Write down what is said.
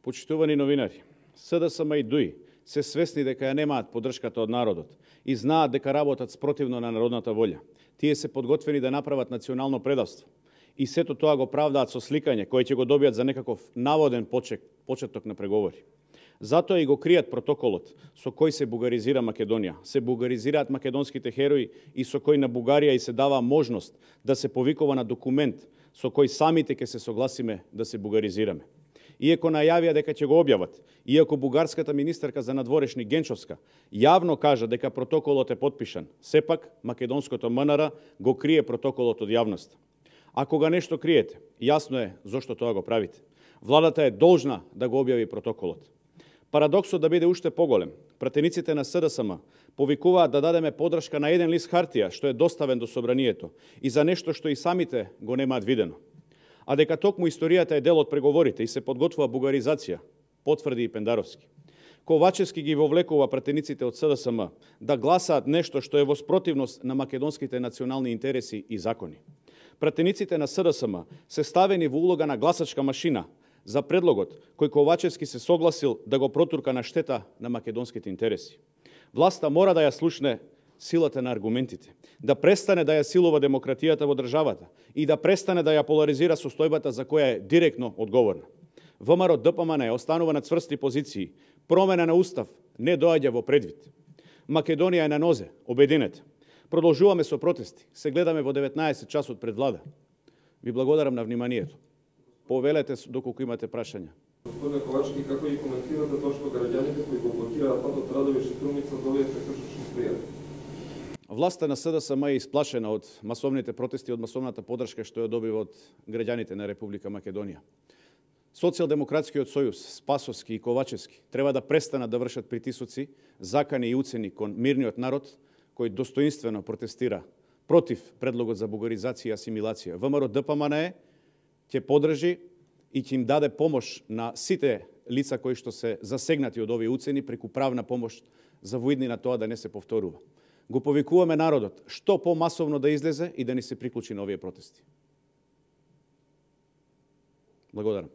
Почитувани новинари, СДСМ и ДУИ се свесни дека ја немаат поддршката од народот и знаат дека работат спротивно на народната волја. Тие се подготвени да направат национално предавство и сето тоа го правдаат со сликање кој ќе го добијат за некаков наводен почеток на преговори. Затоа и го кријат протоколот со кој се бугаризира Македонија, се бугаризираат македонските херои и со кој на Бугарија и се дава можност да се повикува на документ со кој самите ќе се согласиме да се бугаризираме. Иако најавија дека ќе го објават, иако бугарската министерка за надворешни Генчовска јавно кажа дека протоколот е потпишан, сепак македонското МНР го крие протоколот од јавност. Ако го нешто криете, јасно е зошто тоа го правите. Владата е должна да го објави протоколот. Парадоксот да биде уште поголем. Пратениците на СДСМ повикуваат да дадеме подршка на еден лист хартија што е доставен до собранието и за нешто што и самите го немаат видено. А дека токму историјата е дел од преговорите и се подготвува бугаризација, потврди и Пендаровски. Ковачевски ги вовлекува пратениците од СДСМ да гласаат нешто што е во спротивност на македонските национални интереси и закони. Пратениците на СДСМ се ставени во улога на гласачка машина за предлогот кој Ковачевски се согласил да го протурка на штета на македонските интереси. Власта мора да ја слушне силата на аргументите, да престане да ја силува демократијата во државата и да престане да ја поларизира состојбата за која е директно одговорна. ВМРО ДПМН останува на цврсти позиции, промена на устав не доаѓа во предвид. Македонија е на нозе, обединете. Продолжуваме со протести, се гледаме во 19 часот пред влада. Ви благодарам на вниманието. Повелете доколку имате прашања. Господине Ковачевски, како ги коментирате тоа што граѓаните кои го блокираат патот Радовиш и Струмица добијат прекршочни пријави? Власта на СДСМ е исплашена од масовните протести, од масовната поддршка што ја добива од граѓаните на Република Македонија. Социјалдемократскиот сојуз, Спасовски и Ковачевски треба да престанат да вршат притисоци, закани и уцени кон мирниот народ кој достоинствено протестира против предлогот за бугаризација и асимилација. ВМРО ДПМН ќе поддржи и ќе им даде помош на сите лица кои што се засегнати од овие уцени преку правна помош за воидни на тоа да не се повторува. Го повикуваме народот што помасовно да излезе и да ни се приклучи на овие протести. Благодарам.